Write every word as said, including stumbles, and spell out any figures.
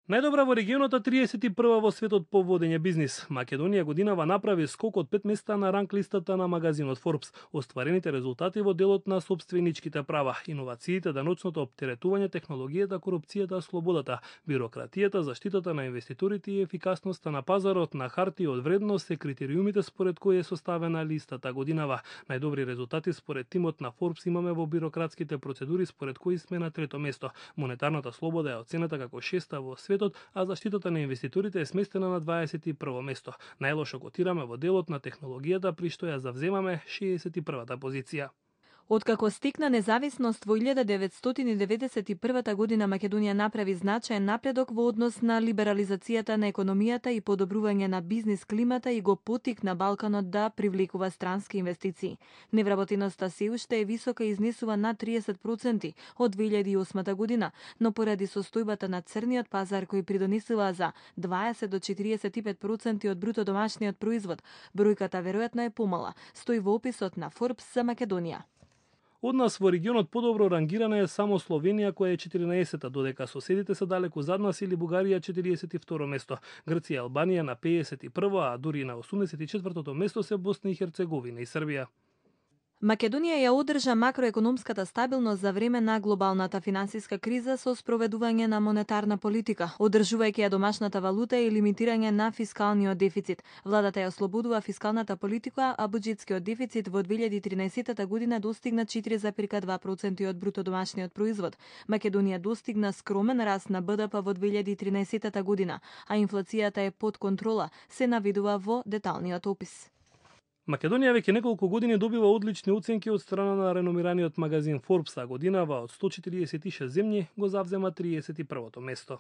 Најдобра во регионот, а триесет и прва во светот по водење бизнис. Македонија годинава направи скок од пет места на ранг листата на магазинот Forbes. Остварените резултати во делот на собственичките права, иновациите, даночното оптеретување, технологијата, корупцијата, слободата, бирократијата, заштитата на инвеститорите и ефикасноста на пазарот на хартија од вредност се критериумите според кои е составена листата годинава. Најдобри резултати според тимот на Forbes имаме во бирократските процедури, според кои сме на трето место. Монетарната слобода е оценета како шеста во свет, а заштитата на инвеститорите е сместена на дваесет и прво место. Најлошо котираме во делот на технологијата, при што ја завземаме шеесет и првата позиција. Откако стекна независност во илјада деветстотини деветдесет и прва година, Македонија направи значаен напредок во однос на либерализацијата на економијата и подобрување на бизнис климата и го поттикна Балканот да привлекува странски инвестиции. Невработеноста се уште е висока и изнесува над триесет проценти од две илјади и осма година, но поради состојбата на црниот пазар кој придонесува за дваесет до четириесет и пет проценти од бруто домашниот производ, бројката веројатно е помала, стои во описот на Forbes за Македонија. Од нас во регионот подобро рангирана е само Словенија, која е четирнаесета, додека соседите се далеку зад нас, или Бугарија четириесет и второ место. Грција и Албанија на пеесет и прво, а дури на осумдесет и четвртото место се Босна и Херцеговина и Србија. Македонија ја одржа макроекономската стабилност за време на глобалната финансиска криза со спроведување на монетарна политика, одржувајќи ја домашната валута и лимитирање на фискалниот дефицит. Владата ја ослободува фискалната политика, а буџетскиот дефицит во две илјади и тринаесета година достигна четири зарез два проценти од бруто домашниот производ. Македонија достигна скромен раст на Б Д П во две илјади и тринаесета година, а инфлацијата е под контрола, се навидува во деталниот опис. Македонија веќе неколку години добива одлични оценки од страна на реномираниот магазин Forbes, а годинава од сто четириесет и шест земји го завзема триесет и првото место.